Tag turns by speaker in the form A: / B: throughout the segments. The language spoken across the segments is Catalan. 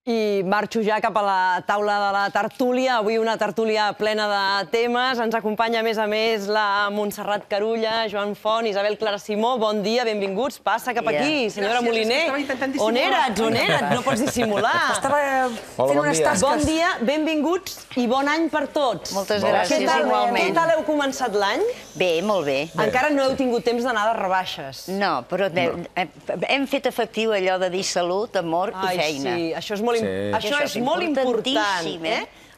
A: I marxo ja cap a la taula de la tertúlia. Avui una tertúlia plena de temes. Ens acompanya, a més, la Montserrat Carulla, Joan Font, Isabel Clara Simó. Bon dia, benvinguts. Passa cap aquí, senyora Moliner. On eres? On eres? No pots dissimular.
B: Estava fent unes tasques.
A: Bon dia, benvinguts i bon any per tots.
C: Moltes gràcies, igualment.
A: Què tal heu començat l'any?
C: Bé, molt bé.
A: Encara no heu tingut temps d'anar de rebaixes.
C: No, però hem fet efectiu allò de dir salut, amor i feina.
A: Ai, sí, això és molt important.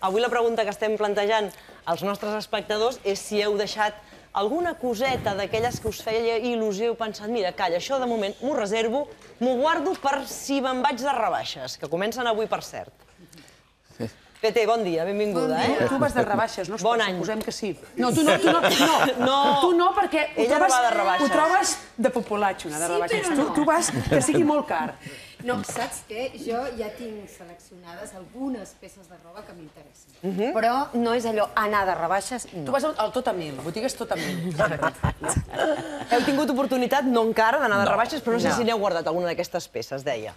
A: Avui la pregunta que estem plantejant als nostres espectadors és si heu deixat alguna coseta d'aquelles que us feia il·lusió i heu pensat, mira, calla, això de moment m'ho reservo, m'ho guardo per si me'n vaig de rebaixes, que comencen avui, per cert. Pete, bon dia, benvinguda.
B: Tu vas de rebaixes, no?
A: Bon any.
B: Suposem que sí. No, tu no. Tu no, perquè ho trobes de populatxo, anar de rebaixes. Tu vas que sigui molt car.
D: No, saps què? Jo ja tinc seleccionades algunes peces de roba que m'interessen. Però no és allò anar de rebaixes,
B: Tu
D: no.
B: vas al Tot a Mil, la botiga és Tot a Mil.
A: Heu tingut oportunitat, no encara, d'anar de rebaixes, però no sé si n'heu guardat alguna d'aquestes peces, deia.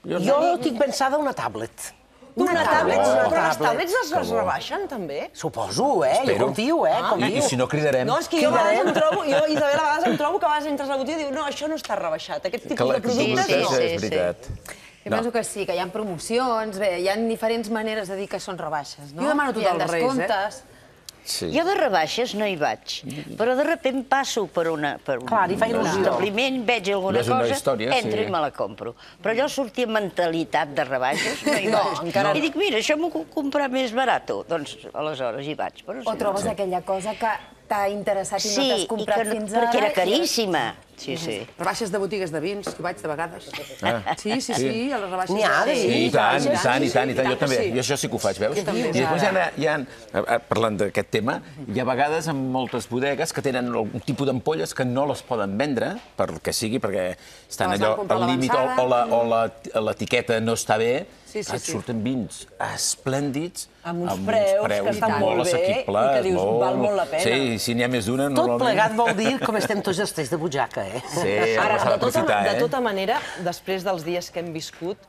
E: Jo tinc pensada una tablet.
A: Una tablet? Però les tablets es rebaixen, també?
E: Suposo, Jo confio,
F: I si no, cridarem.
A: No, és que jo a vegades em trobo, Isabel, a vegades em trobo que a vegades entres a la botiga i diu no, això no està rebaixat, aquest tipus de productes no.
F: És veritat.
D: Jo penso que sí, que hi ha promocions, bé, hi ha diferents maneres de dir que són rebaixes, no?
B: Jo demano tot als Reis,
C: Jo de rebaixes no hi vaig, però de sobte passo per un establiment, veig alguna cosa, entro i me la compro. Però allò sortir amb mentalitat de rebaixes no hi vaig. I dic, mira, això m'ho puc comprar més barat. Doncs aleshores hi vaig.
D: O trobes aquella cosa que t'ha interessat i no t'has comprat fins ara.
C: Perquè era caríssima. Sí.
B: rebaixes de botigues de vins, hi vaig de vegades. Sí, a les rebaixes.
E: N'hi ha de
F: I tant, jo també. Jo això sí que ho faig, veus? I després hi ha, parlant d'aquest tema, hi ha vegades en moltes bodegues que tenen algun tipus d'ampolles que no les poden vendre, per que sigui, perquè estan allò al límit o l'etiqueta no està bé, et surten vins esplèndids,
A: amb uns preus que estan molt bé i que dius, val molt la pena.
F: Sí, si n'hi ha més d'una,
E: normalment... Tot plegat vol dir com estem tots els tres de butxaca,
F: Sí,
A: ara,
F: s'ha d'aprofitar,
A: de tota manera, després dels dies que hem viscut,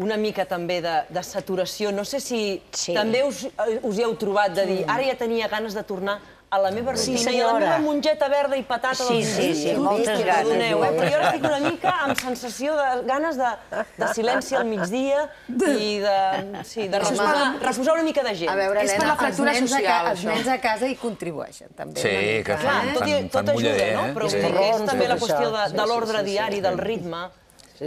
A: una mica també de saturació, no sé si també us hi heu trobat de dir ara ja tenia ganes de tornar a la meva rutina i a la meva mongeta verda i patata del migdia.
C: Sí, moltes ganes.
A: Però jo ara estic una mica amb sensació de ganes de silenci al migdia i de refusar una mica de gent.
D: A veure, Helena, els
B: social,
D: nens a casa hi contribueixen, també.
F: Sí, que
A: tot ajuda, no? Però és també la qüestió de l'ordre diari, del ritme.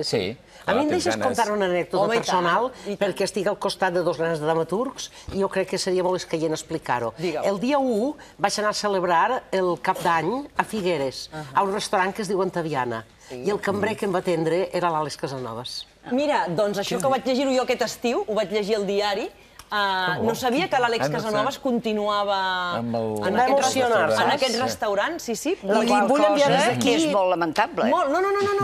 F: Sí.
E: A mi em deixes contar una anècdota personal perquè estic al costat de dos grans dramaturgs i jo crec que seria molt escaient explicar-ho. El dia 1 vaig anar a celebrar el cap d'any a Figueres, a un restaurant que es diu Antaviana, i el cambrer que em va atendre era l'Àlex Casanovas.
A: Mira, doncs això que vaig llegir-ho jo aquest estiu, ho vaig llegir al diari, no sabia que l'Àlex Casanovas continuava en aquest restaurant, sí.
C: La qual cosa que és molt lamentable.
A: No.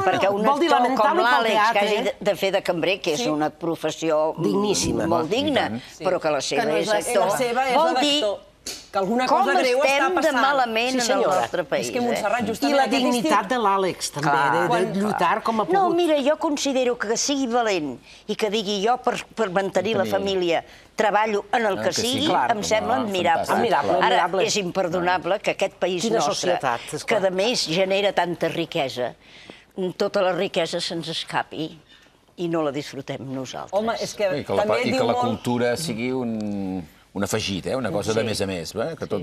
C: Perquè un actor com l'Àlex, que hagi de fer de cambrer, que és una professió
E: digníssima,
C: molt digna, però que la seva és actor, vol dir
A: que alguna cosa greu està passant.
C: com estem de malament en el nostre país.
A: És que Montserrat, justament...
E: I la dignitat de l'Àlex, també, de lluitar com a pogut.
C: No, mira, jo considero que sigui valent i que digui jo per mantenir la família treballo en el que sigui, em sembla admirable. Ara, és imperdonable que aquest país nostre, que a més genera tanta riquesa, tota la riquesa se'ns escapi i no la disfrutem nosaltres.
A: Home, és que també
F: diu molt... I que la cultura sigui un afegit, una cosa de més a més, que tot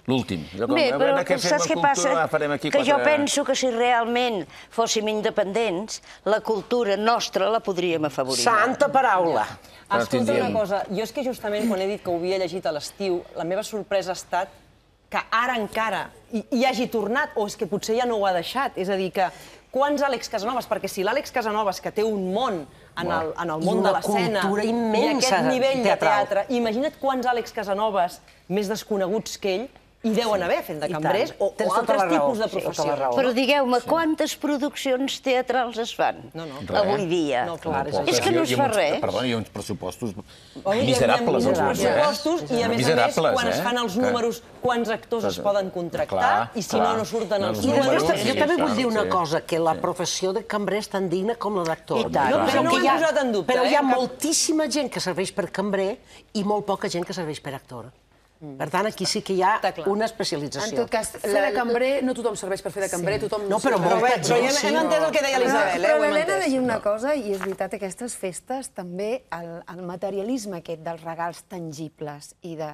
F: l'últim.
C: Bé, però saps què passa? Que jo penso que si realment fóssim independents, la cultura nostra la podríem afavorir.
E: Santa paraula!
A: Escolta una cosa, jo és que justament quan he dit que ho havia llegit a l'estiu, la meva sorpresa ha estat que ara encara hi hagi tornat, o és que potser ja no ho ha deixat. És a dir, que quants Àlex Casanovas? Perquè si l'Àlex Casanovas, que té un món en el món de l'escena i aquest nivell de teatre, imagina't quants Àlex Casanovas més desconeguts que ell I deuen haver fent de cambrers o altres tipus de professions.
C: Però digueu-me, quantes produccions teatrals es fan avui dia? És que no es fa res.
F: Perdona, hi ha uns pressupostos miserables.
A: I a més, quan es fan els números, quants actors es poden contractar i si no, no surten els números.
E: Jo també vull dir una cosa, que la professió de cambrer és tan digna com la d'actor. Però hi ha moltíssima gent que serveix per cambrer i molt poca gent que serveix per actor. Per tant, aquí sí que hi ha una especialització.
B: En tot cas, fer de cambrer, no tothom serveix per fer de cambrer, tothom...
E: No, però molta gent, sí.
A: Hem entès el que deia l'Isabel,
D: Però l'Helena deia una cosa, i és veritat, aquestes festes, també el materialisme aquest dels regals tangibles i de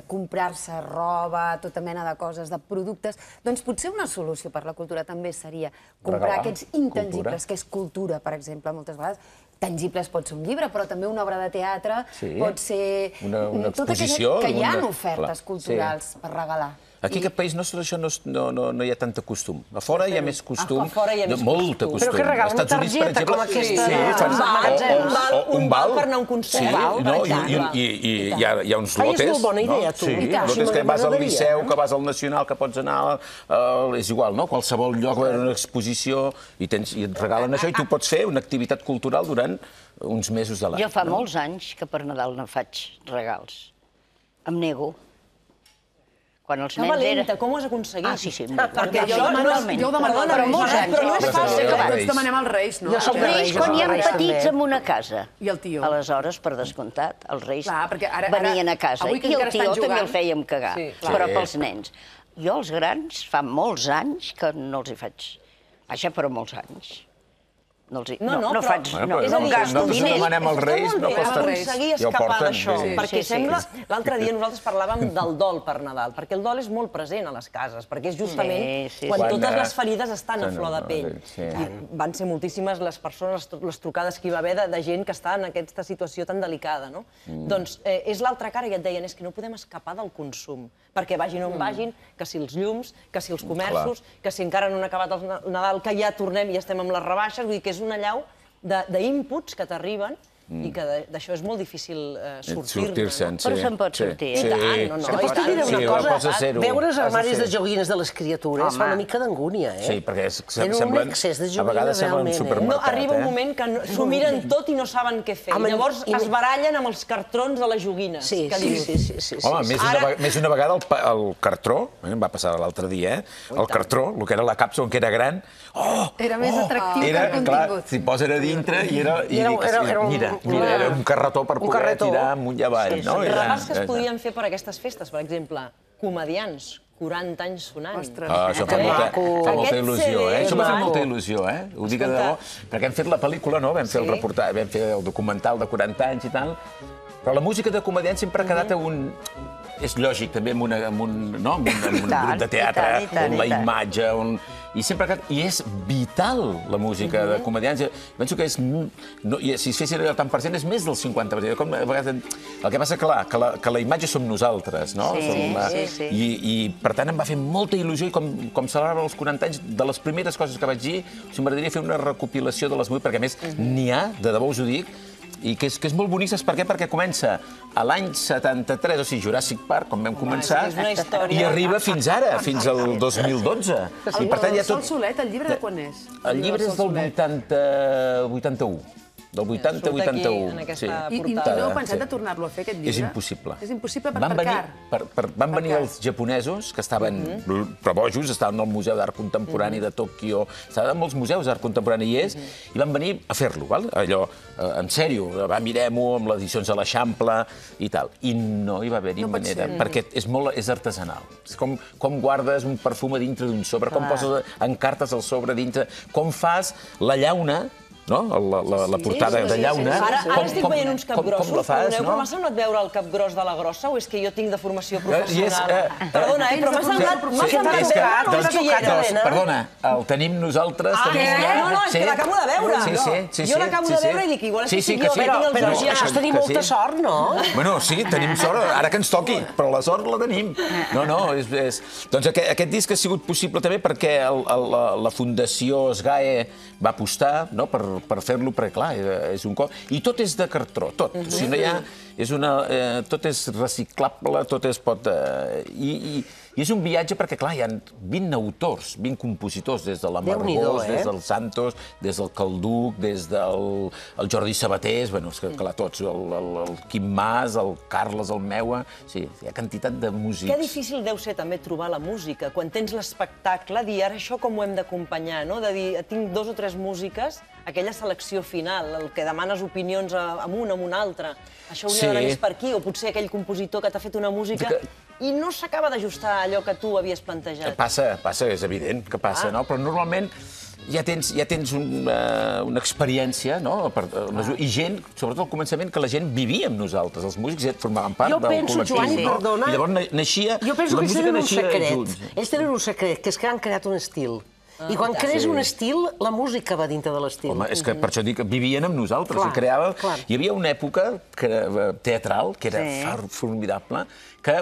D: comprar-se roba, tota mena de coses, de productes, doncs potser una solució per la cultura també seria comprar aquests intangibles, que és cultura, per exemple, moltes vegades. Tangibles pot ser un llibre, però també una obra de teatre, pot ser...
F: Una exposició.
D: Que hi ha ofertes culturals per regalar.
F: Aquí, en aquest país nostre, això no hi ha tanta costum. A fora hi ha més costum, molta costum.
E: Però que regalen una targeta com aquesta...
A: Un val per anar a un concert.
F: I hi ha uns lotes.
E: És molt bona idea, tu.
F: Sí, lotes que vas al Liceu, que vas al Nacional, que pots anar... És igual, no? Qualsevol lloc, una exposició, i et regalen això, i tu pots fer una activitat cultural durant uns mesos de l'any.
C: Jo fa molts anys que per Nadal no faig regals. Em nego. Quan els nens
A: valenta, com ho has aconseguit?
C: Ah, sí.
A: Perquè jo ho demano,
C: però molts anys.
A: Però no és fàcil.
B: Tots demanem als Reis, no?
C: Els Reis, quan hi ha petits en una casa.
B: I el tio.
C: Aleshores, per descomptat, els Reis venien a casa. I el tio també el fèiem cagar, però pels nens. Jo, els grans, fa molts anys que no els hi faig. Vaja, però molts anys. No faig... No gasto diners.
F: Nosaltres demanem als Reis, no costa res.
A: Aconseguir escapar d'això, perquè sembla... L'altre dia nosaltres parlàvem del dol per Nadal, perquè el dol és molt present a les cases, perquè és justament quan totes les ferides estan a flor de pell. I van ser moltíssimes les persones, les trucades que hi va haver de gent que està en aquesta situació tan delicada, no? Doncs és l'altra cara, i et deien, és que no podem escapar del consum, perquè vagin on vagin, que si els llums, que si els comerços, que si encara no han acabat el Nadal, que ja tornem i estem amb les rebaixes, vull dir que és una allau d'inputs que t'arriben i que d'això és molt difícil sortir-ne.
C: Però se'n pot sortir.
A: I tant, no,
E: Pots dir una cosa? Veure els armaris de joguines de les criatures fa una mica d'angúnia, eh?
F: Sí, perquè a vegades semblen un supermercat.
A: Arriba un moment que s'ho miren tot i no saben què fer. I llavors es barallen amb els cartrons de les joguines.
E: Sí.
F: Home, més una vegada el cartró, em va passar l'altre dia, el cartró, el que era la càpsula, que era gran,
D: era més atractiu que el contingut.
F: Clar, s'hi posa a dintre i era... Mira, era un carretó per poder tirar amunt i avall.
A: Regals que es podien fer per aquestes festes, per exemple, comedians, 40 anys sonant.
F: Això fa molta il·lusió, eh? Això m'ha fet molta il·lusió, eh? Ho dic de debò, perquè hem fet la pel·lícula, no? Vam fer el reportatge, vam fer el documental de 40 anys i tal, però la música de comedians sempre ha quedat a un... És lògic, també, amb un grup de teatre, on la imatge, i és vital, la música de comedians. Penso que si es fessin allò tant per cent, és més del 50%. El que passa, clar, que la imatge som nosaltres, no? I, per tant, em va fer molta il·lusió, i com celebrava els 40 anys, de les primeres coses que vaig dir, m'agradaria fer una recopilació de les músiques, perquè, a més, n'hi ha, de debò us ho dic, i que és molt bonic, saps per què? Perquè comença a l'any 73, o sigui, Jurassic Park, com vam començar, i arriba fins ara, fins al 2012.
B: El Sol Solet, el llibre de quan és?
F: El llibre és del 81. Del 80-81.
B: I no heu pensat de tornar-lo a fer, aquest llibre?
F: És impossible.
B: És impossible per car.
F: Van venir els japonesos, que estaven prebojos, estaven al Museu d'Art Contemporani de Tòquio, estaven en molts museus d'art contemporani, i van venir a fer-lo, allò, en sèrio, mirem-ho amb les edicions de l'Eixample i tal. I no hi va haver-hi manera, perquè és artesanal. Com guardes un perfum a dintre d'un sobre, com poses encartes al sobre dintre, com fas la llauna, la portada de llauna.
A: Ara estic veient uns capgrossos, perdoneu, però m'ha semblat veure el capgros de la grossa o és que jo tinc de formació professional? Perdona, però m'ha semblat...
F: Perdona, el tenim nosaltres...
A: No, és que l'acabo de veure. Jo l'acabo de veure i dic, igual és que jo
E: però això tenim molta sort, no?
F: Bueno, sí, tenim sort, ara que ens toqui, però la sort la tenim. No, doncs aquest disc ha sigut possible també perquè la Fundació SGAE va apostar per per fer-lo, perquè clar, és un cop... I tot és de cartró, tot. O sigui, no hi ha... Tot és reciclable, tot es pot... I és un viatge perquè, clar, hi ha 20 autors, 20 compositors, des de l'Amargós, des del Santos, des del Calduc, des del Jordi Sabatés, bueno, és que, clar, tots, el Quim Mas, el Carles, el Meua... Sí, hi ha quantitat de músics.
A: Que difícil deu ser també trobar la música, quan tens l'espectacle, dir ara això com ho hem d'acompanyar, no? De dir, tinc 2 o 3 músiques, aquella selecció final, el que demanes opinions amb un, amb un altre, això hauria d'anar més per aquí, o potser aquell compositor que t'ha fet una música i no s'acaba d'ajustar a allò que tu havies plantejat.
F: Passa, és evident que passa, no? Però normalment ja tens una experiència, no? I gent, sobretot al començament, que la gent vivia amb nosaltres, els músics formaven part del col·lectiu.
E: Jo penso, Joan, i perdona...
F: I llavors naixia...
E: Jo penso que ells tenen un secret. Ells tenen un secret, que és que han creat un estil. I quan crees un estil, la música va dintre de l'estil.
F: Home, és que per això dic que vivien amb nosaltres, i creaven... Hi havia una època teatral, que era formidable, que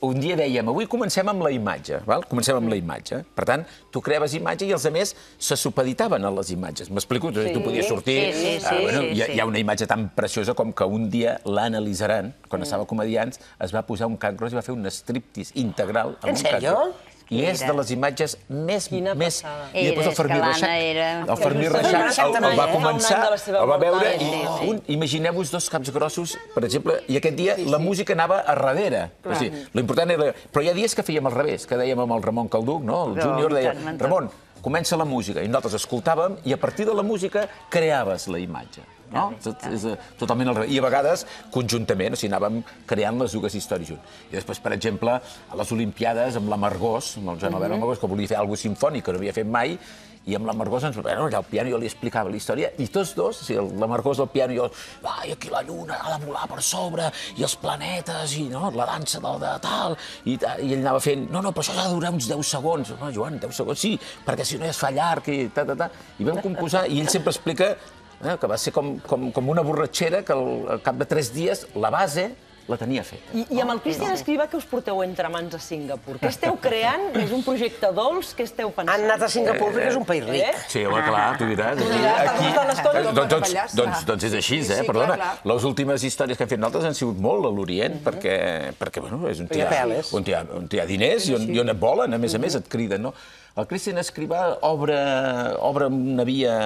F: un dia dèiem, avui comencem amb la imatge, comencem amb la imatge. Per tant, tu creaves imatge i els altres se supeditaven a les imatges. M'explico? Tu podies sortir... Hi ha una imatge tan preciosa com que un dia l'Anna Lizaran, quan estava a Comediants, es va posar un cac gros i va fer un striptease integral.
E: En sèrio?
F: I és de les imatges més...
A: Quina passada.
F: I després el Fermí Reixac. El Fermí Reixac el va començar, el va veure i imagineu-vos 2 caps grossos, per exemple, i aquest dia la música anava a darrere. L'important era... Però hi ha dies que fèiem al revés, que dèiem amb el Ramon Calduc, el júnior, deia, Ramon, comença la música, i nosaltres escoltàvem, i a partir de la música creaves la imatge. És totalment al revés. I a vegades, conjuntament, o sigui, anàvem creant les dues històries junts. I després, per exemple, a les Olimpiades, amb l'Amargós, amb el Joan Albert Amargós, que volia fer alguna cosa simfònic, que no havia fet mai, i amb l'Amargós allà al piano jo li explicava la història, i tots dos, l'Amargós al piano i jo, i aquí la lluna ha de volar per sobre, i els planetes, i la dansa de tal, i ell anava fent, no, però això ha de durar uns 10 segons. No, Joan, 10 segons, sí, perquè si no ja es fa llarg, i i vam composar, i ell sempre explica que va ser com una borratxera que al cap de 3 dies la base la tenia feta.
A: I amb el Cristian Escrivà, què us porteu entre mans a Singapur? Què esteu creant? És un projecte dolç? Què esteu pensant?
E: Han anat a Singapur perquè és un país ric.
F: Sí, home, clar, tu diràs. Doncs és així, perdona. Les últimes històries que hem fet nosaltres han sigut molt a l'Orient, perquè és on hi ha diners i on et volen, a més, et criden, no? El Cristian Escrivà obre una via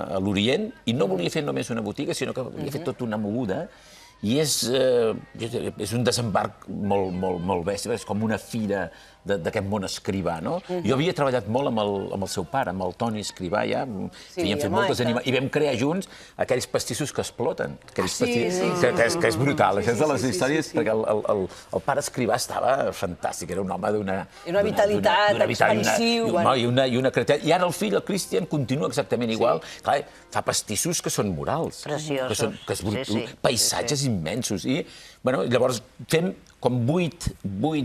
F: a l'Orient i no volia fer només una botiga, sinó que volia fer tota una moguda. I és un desembarc molt bèstia, és com una fira d'aquest món escrivà, no? Jo havia treballat molt amb el seu pare, amb el Toni Escrivà, ja, havíem fet moltes animacions, i vam crear junts aquells pastissos que exploten, que és brutal, això és de les històries, perquè el pare Escrivà estava fantàstic, era un home d'una
A: vitalitat, expansiu.
F: I una creativitat. I ara el fill, el Cristian, continua exactament igual. Clar, fa pastissos que són murals.
C: Preciosos.
F: Paisatges immensos. I llavors fem com 8,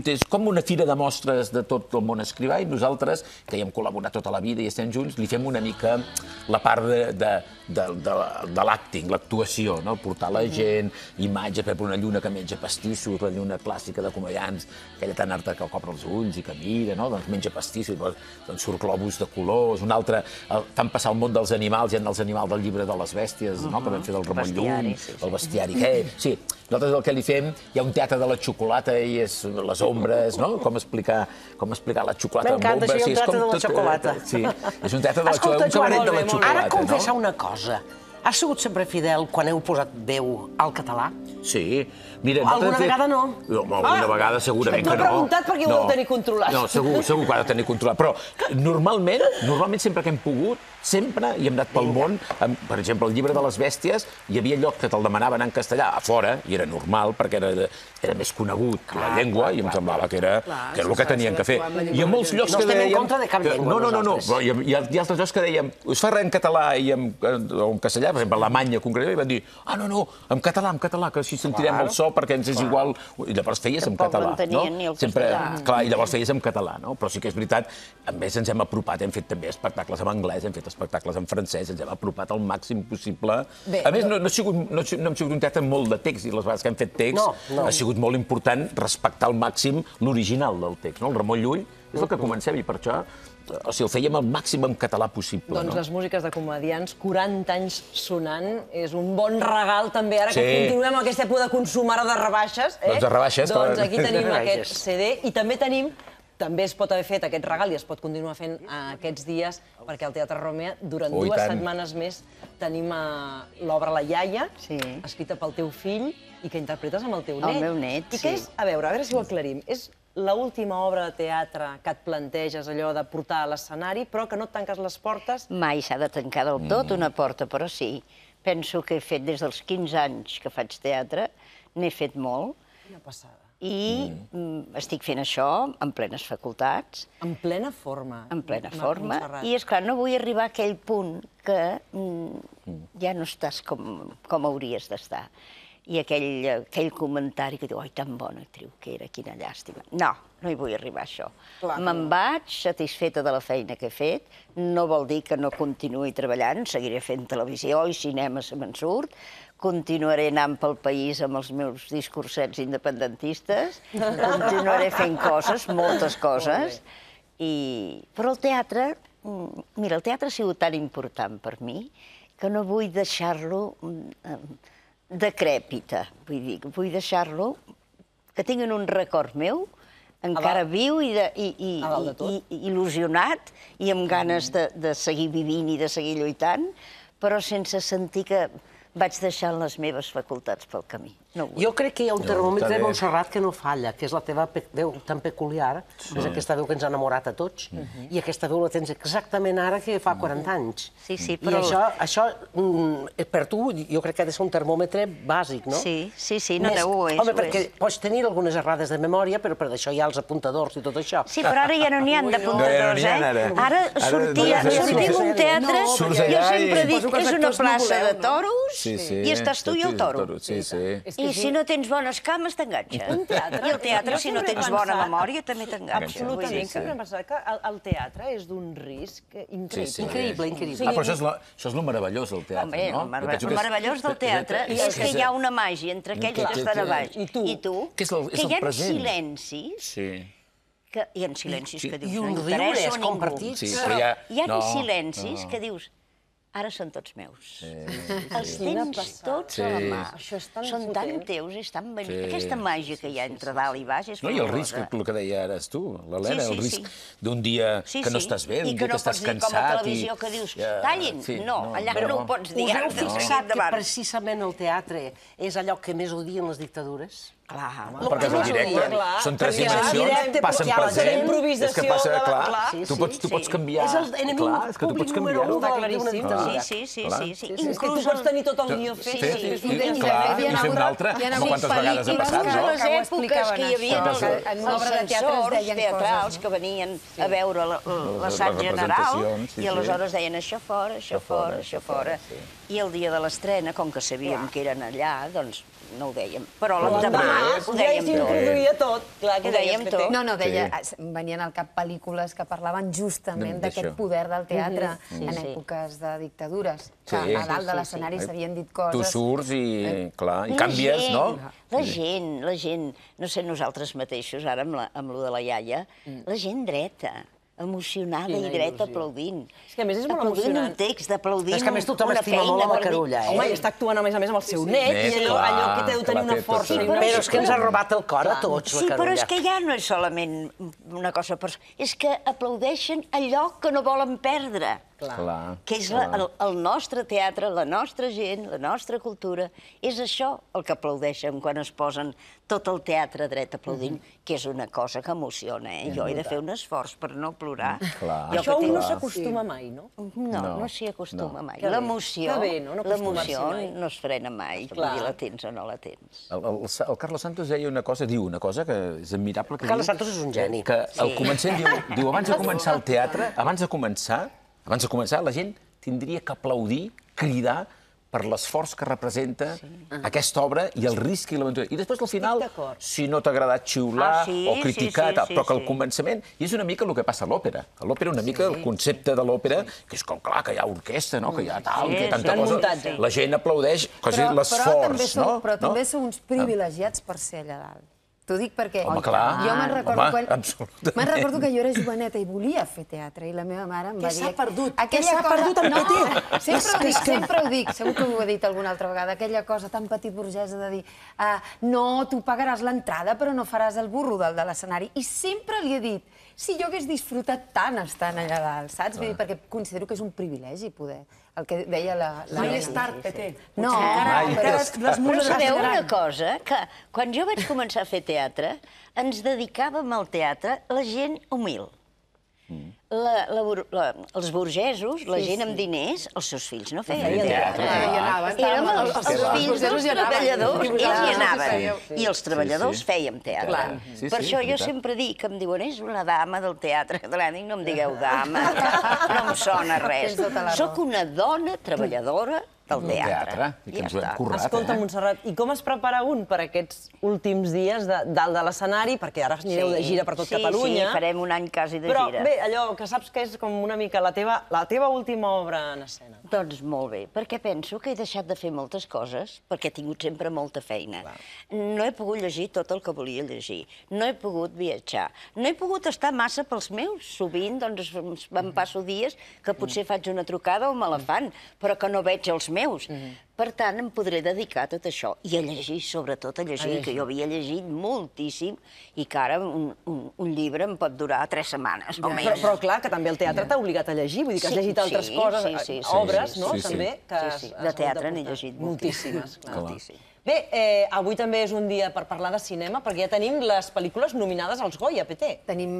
F: és com una fira de mostres de tot el món escrivà, i nosaltres, que hi hem col·laborat tota la vida i estem junts, li fem una mica la part de l'acting, l'actuació, portar la gent, imatge, per una lluna que menja pastissos, la lluna clàssica de Comediants, aquella tan harta que cobra els ulls i que mira, doncs menja pastissos, doncs surt globus de colors, un altre, fan passar el món dels animals, hi ha els animals del llibre de les bèsties, que vam fer del Ramon Llull, el bestiari. Sí, nosaltres el que li fem, hi ha un teatre de la xocolata i és les ombres, com explicar la xocolata amb
E: ombres. M'encanta,
F: sí,
E: un teatre de la xocolata.
F: Sí, és un teatre de la xocolata, un cabaret de la xocolata.
E: Ara confessa una cosa. Has sigut sempre fidel quan heu posat veu al català?
F: Sí.
E: Alguna vegada no?
F: Alguna vegada segurament que no.
A: T'ho he preguntat perquè ho heu de tenir controlat.
F: No, segur que ho ha de tenir controlat. Però normalment sempre que hem pogut, sempre hi hem anat pel món. Per exemple, el llibre de les bèsties, hi havia llocs que te'l demanaven en castellà a fora, i era normal, perquè era més conegut la llengua, i em semblava que era el que tenien que fer. Hi ha molts llocs que dèiem...
E: No estem en contra de cap llengua, nosaltres.
F: No. Hi ha altres llocs que dèiem, us fa res en català i en castellà, per exemple, a Alemanya concretament, i van dir, no, en català, que així sentirem el so, perquè ens és igual... I llavors feies en català, no? Clar, i llavors feies en català, no? Però sí que és veritat, a més ens hem apropat, hem fet també espectacles en anglès, hem fet espectacles en francès, ens hem apropat al màxim possible. A més, no hem sigut un teatre amb molt de text, i les vegades que hem fet text ha sigut molt important respectar al màxim l'original del text, no? El Ramon Llull és el que comencem, i per això o sigui, ho fèiem el màxim en català possible.
A: Doncs les músiques de comediants, 40 anys sonant, és un bon regal també, ara que continuem amb aquesta època de consum ara de rebaixes.
F: Doncs de rebaixes.
A: Doncs aquí tenim aquest CD i també es pot haver fet aquest regal i es pot continuar fent aquests dies, perquè al Teatre Romea, durant 2 setmanes més, tenim l'obra La iaia, escrita pel teu fill i que interpretes amb el teu net.
C: El meu net, sí.
A: I que és, a veure si ho aclarim, és l'última obra de teatre que et planteges allò de portar a l'escenari, però que no et tanques les portes?
C: Mai s'ha de tancar del tot una porta, però sí. Penso que he fet des dels 15 anys que faig teatre, n'he fet molt.
A: Quina passada.
C: I estic fent això en plenes facultats.
A: En plena forma.
C: En plena forma. I, esclar, no vull arribar a aquell punt que ja no estàs com hauries d'estar. I aquell comentari que diu, oi, tan bona actriu que era, quina llàstima. No, no hi vull arribar a això. Me'n vaig satisfeta de la feina que he fet. No vol dir que no continuï treballant, seguiré fent televisió i cinema se me'n surt. Continuaré anant pel país amb els meus discursets independentistes, continuaré fent coses, moltes coses, però el teatre, mira, el teatre ha sigut tan important per mi que no vull deixar-lo decrèpita, vull deixar-lo que tinguin un record meu, encara viu i il·lusionat i amb ganes de seguir vivint i de seguir lluitant, però sense sentir que vaig deixant les meves facultats pel camí.
E: Jo crec que hi ha un termòmetre de Montserrat que no falla, que és la teva veu tan peculiar, és aquesta veu que ens ha enamorat a tots, i aquesta veu la tens exactament ara que fa 40 anys.
C: Sí, però...
E: I això, per tu, jo crec que ha de ser un termòmetre bàsic, no?
C: Sí, no, ho és.
E: Home, perquè pots tenir algunes errades de memòria, però per això hi ha els apuntadors i tot això.
C: Sí, però ara ja no n'hi ha d'apuntadors, eh? Ara sortim un teatre, jo sempre dic que és una plaça de toros i estàs tu i el toro. I si no tens bones cames, t'enganxa. I el teatre, si no tens bona memòria, també t'enganxa.
A: Absolutament. Sempre hem pensat que el teatre és d'un risc increïble.
E: Increïble.
F: Però això és el meravellós del teatre, no?
C: El meravellós del teatre és que hi ha una màgia entre aquells que estan a baix i tu, que hi ha silencis, hi ha silencis que dius, no interessa a ningú. Hi ha silencis que dius, ara són tots meus. Els tens tots a la mà. Són tan teus i estan bonics. Aquesta màgia que hi ha entre dalt i baix és fabulosa.
F: No, i el risc, el que deia ara tu, l'Helena, el risc d'un dia que no estàs bé, d'un dia que estàs cansat.
C: I que no pots dir com a televisió que dius, tallin. No, allà no ho pots dir.
E: Us heu fixat que precisament el teatre és allò que més odien les dictadures?
C: Clar.
F: Perquè és el directe, són 3 dimensions, passen present, és que passa, clar, tu pots canviar.
E: És l'enemic públic número 1 d'una dictadura.
C: Sí.
A: És que tu pots tenir tot el guió fet.
F: I fer un altre, com quantes vegades ha passat, no?
C: Les èpoques que hi havia els censors teatrals que venien a veure l'assaig general i aleshores deien això fora, això fora, això fora. I el dia de l'estrena, com que sabíem que eren allà, doncs no ho dèiem. Però l'endemà ho dèiem tot.
A: S'introduïa tot.
C: Ho dèiem tot.
D: No, venien al cap pel·lícules que parlaven justament d'aquest poder del teatre en èpoques de dictadures. Que a dalt de l'escenari s'havien dit coses...
F: Tu surts i, clar, i canvies, no?
C: La gent, no sé nosaltres mateixos, ara amb lo de la iaia, la gent dreta, emocionada i dreta aplaudint.
A: És que a més és molt emocionant.
C: Aplaudint un text, aplaudint una feina.
E: És que a més tothom estima molt la Macarulla, eh?
A: Home, i està actuant a més amb el seu net, i allò que deu tenir una força.
E: Però és que ens ha robat el cor a tots, la Carulla.
C: Sí, però és que ja no és solament una cosa personal, és que aplaudeixen allò que no volen perdre. Que és el nostre teatre, la nostra gent, la nostra cultura. És això el que aplaudeixen quan es posen tot el teatre dret aplaudint, que és una cosa que emociona, eh? Jo he de fer un esforç per no plorar.
A: Això no s'acostuma mai, no?
C: No s'hi acostuma mai. L'emoció no es frena mai, la tens o no la tens.
F: El Carlos Santos diu una cosa que és admirable.
E: Carlos Santos és un geni.
F: Que al començament diu, abans de començar el teatre, abans de començar, la gent tindria que aplaudir, cridar, per l'esforç que representa aquesta obra i el risc i l'aventura. I després, al final, si no t'ha agradat xiular o criticar, però que al començament... I és una mica el que passa a l'òpera. A l'òpera, una mica el concepte de l'òpera, que és com, clar, que hi ha orquestra, que hi ha tal, que hi ha tanta cosa... La gent aplaudeix quasi l'esforç, no?
D: Però també sou uns privilegiats per ser allà dalt. T'ho dic perquè
F: Home, clar.
D: jo me'n
F: absolutament.
D: recordo que jo era joveneta i volia fer teatre i la meva mare em va dir...
B: Què s'ha perdut?
D: Què s'ha perdut en Petit? Sempre ho dic, segur que ho he dit alguna altra vegada, aquella cosa tan petit burgesa de dir no, tu pagaràs l'entrada però no faràs el burro de l'escenari. I sempre li he dit, si jo hagués disfrutat tant estant allà dalt, saps? Perquè considero que és un privilegi poder, el que deia la...
B: Mai és tard, Peté.
D: No,
C: però sabeu una cosa? Que quan jo vaig començar a fer teatre, ens dedicàvem al teatre la gent humil. Els burgesos, la gent amb diners, els seus fills no feien teatre. Érem els fills dels treballadors, ells hi anaven. I els treballadors fèiem teatre. Per això jo sempre dic, em diuen, és una dama del teatre català. Dic, no em digueu dama, no em sona res. Soc una dona treballadora del teatre.
F: I que ens ho hem currat,
A: Escolta, Montserrat, i com es prepara un per aquests últims dies dalt de l'escenari? Perquè ara anireu de gira per tot Catalunya.
C: Sí, farem un any quasi de
A: gira.
C: Però
A: bé, allò que saps que és com una mica la teva última obra en escena.
C: Doncs molt bé, perquè penso que he deixat de fer moltes coses, perquè he tingut sempre molta feina. No he pogut llegir tot el que volia llegir, no he pogut viatjar, no he pogut estar massa pels meus. Sovint doncs em passo dies que potser faig una trucada o me la fan, però que no veig els meus. Per tant, em podré dedicar a tot això i a llegir, sobretot a llegir, que jo havia llegit moltíssim i que ara un llibre em pot durar 3 setmanes o més.
A: Però clar, que també el teatre t'ha obligat a llegir, vull dir que has llegit altres coses, obres, no? També.
C: De teatre n'he llegit
A: moltíssimes. Bé, avui també és un dia per parlar de cinema, perquè ja tenim les pel·lícules nominades als Goya, Peté.
D: Tenim,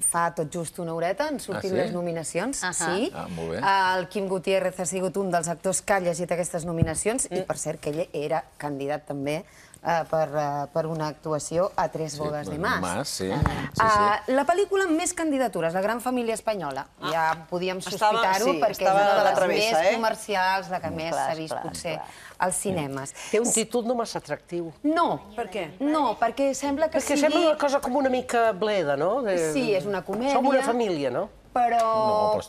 D: fa tot just una horeta, han sortit les nominacions, sí.
F: Molt bé.
D: El Quim Gutiérrez ha sigut un dels actors que ha llegit aquestes nominacions, i per cert que ell era candidat també per una actuació a Tres bodes de Mas. La pel·lícula amb més candidatures, La gran família espanyola. Ja podíem sospitar-ho perquè és una de les més comercials, la que més s'ha vist potser als cinemes.
E: Té un títol no massa atractiu.
D: No.
B: Per què?
D: No, perquè sembla que sigui...
E: Perquè sembla una cosa com una mica bleda, no?
D: Sí, és una comèdia.
E: Som una família, no?
D: Però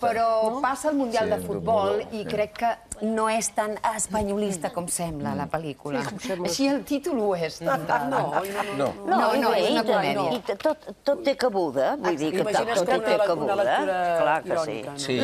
D: passa el Mundial de Futbol i crec que no és tan espanyolista com sembla la pel·lícula. Així el títol ho és. No, és una comèdia.
C: I tot té cabuda, vull dir que tot té cabuda. Clar que sí.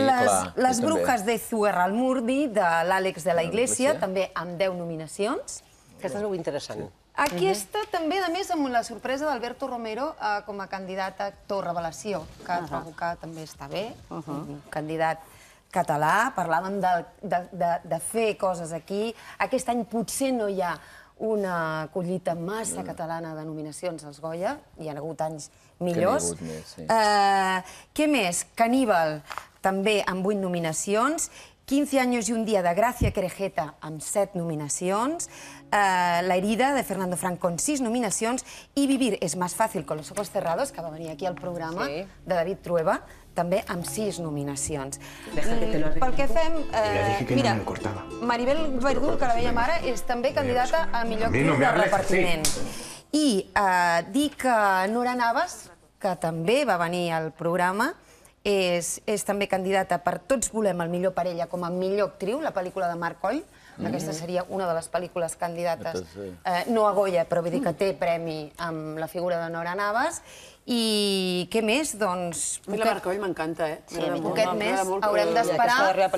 D: Les brujas de Zugarramurdi, de l'Àlex de la Iglesia, també amb 10 nominacions.
E: Aquesta és molt interessant.
D: Aquesta també, a més, amb la sorpresa d'Alberto Romero com a candidat a actor revelació, que trobo que també està bé, un candidat català. Parlàvem de fer coses aquí. Aquest any potser no hi ha una collita massa catalana de nominacions als Goya, hi ha hagut anys millors. Què més? Caníbal, també amb 8 nominacions. 15 años y un día de Gracia Querejeta amb 7 nominacions, La herida de Fernando Frank con 6 nominacions i Vivir es más fácil con los ojos cerrados, que va venir aquí al programa, de David Trueba, també amb 6 nominacions. Pel que fem... Mira, Maribel Verdú, que la veiem ara, és també candidata a millor actriu de repartiment. I dir que Nora Navas, que també va venir al programa, és també candidata per Tots volem el millor parella com a millor actriu, la pel·lícula de Marc Coll. Aquesta seria una de les pel·lícules candidates, no a Goya, però vull dir que té premi amb la figura de Nora Navas. I què més? Doncs...
B: La Marc Coll m'encanta,
D: Poquet més. Haurem d'esperar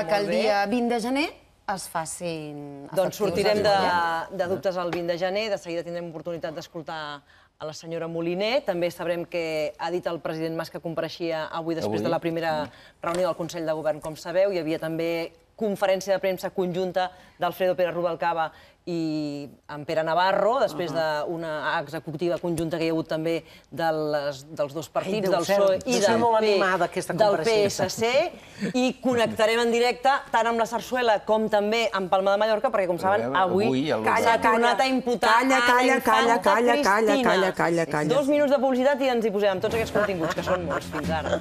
D: que el dia 20 de gener es facin efectius.
A: Doncs sortirem de dubtes el 20 de gener, de seguida tindrem oportunitat d'escoltar a la senyora Moliner. També sabrem que ha dit el president Mas que compareixia avui després de la primera reunió del Consell de Govern, com sabeu. Hi havia també conferència de premsa conjunta d'Alfredo Pérez Rubalcaba i en Pere Navarro, després d'una executiva conjunta que hi ha hagut també dels dos partits, del PSOE i del PSC, i connectarem en directe tant amb la Sarsuela com també amb Palma de Mallorca, perquè, com saben, avui s'ha tornat a imputar a la infanta Cristina. 2 minuts de publicitat i ens hi posem amb tots aquests continguts, que són molts, fins ara.